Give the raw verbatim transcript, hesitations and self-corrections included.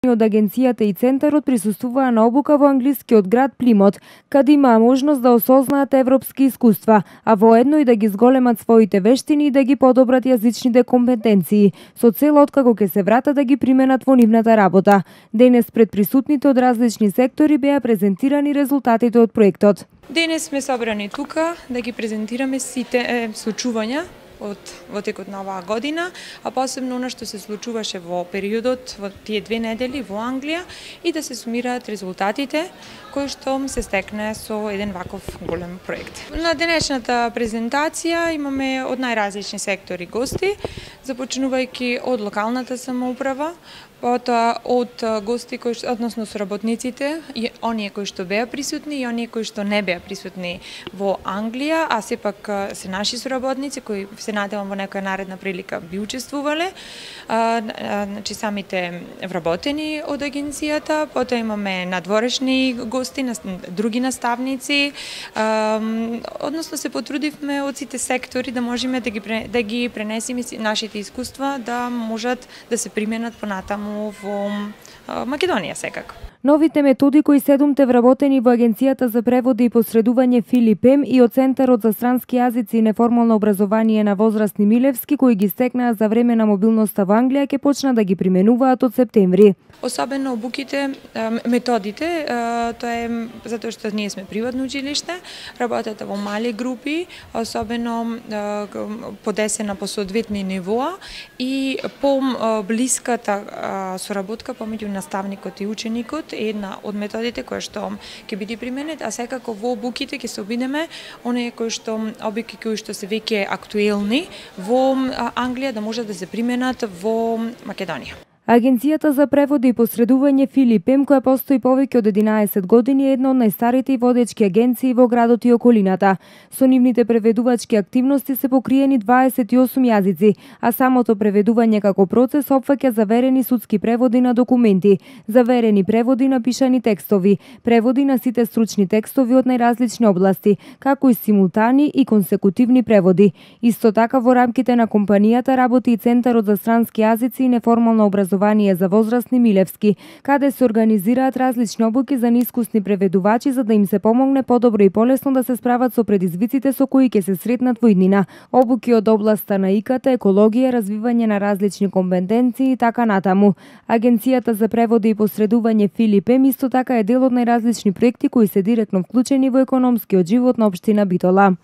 Од агенцијата и центарот присуствуваа на обука во англискиот град Плимот, каде имаа можност да осознаат европски искуства, а воедно и да ги зголемат своите вештини и да ги подобрат јазичните компетенции, со цел откако ќе се вратат да ги применат во нивната работа. Денес пред присутните од различни сектори беа презентирани резултатите од проектот. Денес сме собрани тука да ги презентираме сите е, случувања од во текот на оваа година, а посебно она што се случуваше во периодот во тие две недели во Англија и да се сумираат резултатите кои што се стекне со еден ваков голем проект. На денешната презентација имаме од најразлични сектори гости, започнувајќи од локалната самоуправа, потоа од гости кои односно соработниците и оние кои што беа присутни и оние кои што не беа присутни во Англија, а сепак се наши соработници кои се надевам во некоја наредна прилика би учествувале, а, а, значи самите вработени од агенцијата, потоа имаме надворешни гости, други наставници, а, односно се потрудивме од сите сектори да можеме да ги да ги пренесеме нашите искуства да можат да се применат понатаму во Македонија секако. Новите методи кои седумте вработени во Агенцијата за преводи и посредување Филип Ем и од Центарот за странски јазици и неформално образование на возрастни Милевски кои ги стекнаа за време на мобилноста во Англија ќе почнат да ги применуваат од септември. Особено обуките, методите, тоа е затоа што ние сме приватно училиште, работат во мали групи, особено подесена по соодветни нивоа и по блиската соработка помеѓу наставникот и ученикот е една од методите која што ќе биде применет, а секако во обуките ќе се обидеме оние кои што обуки кои што се веќе актуелни во Англија да можат да се применат во Македонија. Агенцијата за преводи и посредување Филип Ем, која постои повеќе од единаесет години, е една од најстарите и водечки агенции во градот и околината. Со нивните преведувачки активности се покриени дваесет и осум јазици, а самото преведување како процес опфаќа заверени судски преводи на документи, заверени преводи на пишани текстови, преводи на сите стручни текстови од најразлични области, како и симултани и консекутивни преводи. Исто така во рамките на компанијата работи и Центарот за странски јазици и неформално образование за возрастни Милевски, каде се организираат различни обуки за неискусни преведувачи за да им се помогне подобро и полесно да се справат со предизвиците со кои ќе се сретнат во иднина. Обуки од областа на ИКТ, екологија, развивање на различни компетенции и така натаму. Агенцијата за преводи и посредување Филип Ем исто така е дел од најразлични проекти кои се директно вклучени во економскиот живот на општина Битола.